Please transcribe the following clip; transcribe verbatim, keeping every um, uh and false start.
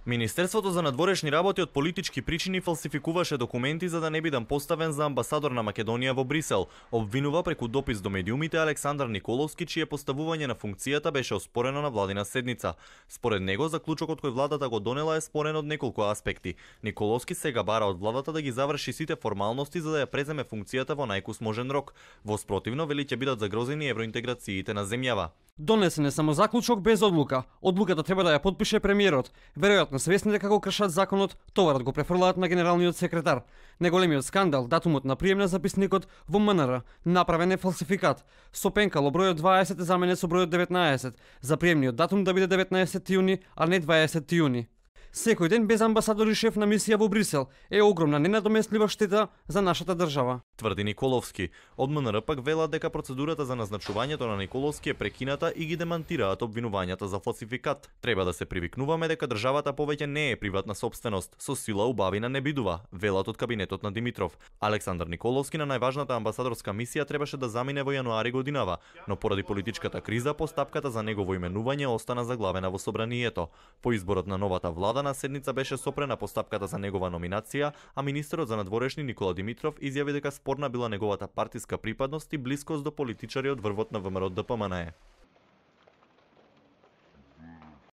Министерството за надворешни работи од политички причини фалсификуваше документи за да не бидам поставен за амбасадор на Македонија во Брисел, обвинува преку допис до медиумите Александар Николовски, чие поставување на функцијата беше оспорено на владина седница. Според него, заклучокот кој владата го донела е спорен од неколку аспекти. Николовски сега бара од владата да ги заврши сите формалности за да ја преземе функцијата во најкус можен рок. Во спротивно, вели ќе бидат загрозени евроинтеграциите на земјава. Донесен е само заклучок без одлука. Одлуката треба да ја подпише премиерот. Веројатно свесни дека го кршат законот, товарот го префрлаат на генералниот секретар. Неголемиот скандал, датумот на прием на записникот во М Н Р, направен е фалсификат. Со пенкало бројот дваесет е заменет со бројот деветнаесет. За приемниот датум да биде деветнаесети јуни, а не дваесети јуни. Секој ден без амбасадор и шеф на мисија во Брисел е огромна ненадомеслива штета за нашата држава, тврди Николовски. Од М Н Р пак велат дека процедурата за назначувањето на Николовски е прекината и ги демантираат обвинувањата за фалсификат. Треба да се привикнуваме дека државата повеќе не е приватна сопственост, со сила убавина не бидува, велат од кабинетот на Димитров. Александар Николовски на најважната амбасадорска мисија требаше да замине во јануари годинава, но поради политичката криза постапката за негово именување остана заглавена во собранието. По изборот на новата влада на седница беше сопрена постапката за негова номинација, а министерот за надворешни Никола Димитров изјави дека спорна била неговата партиска припадност и блискост до политичари од врвот на ВМРО Д П М Н Е.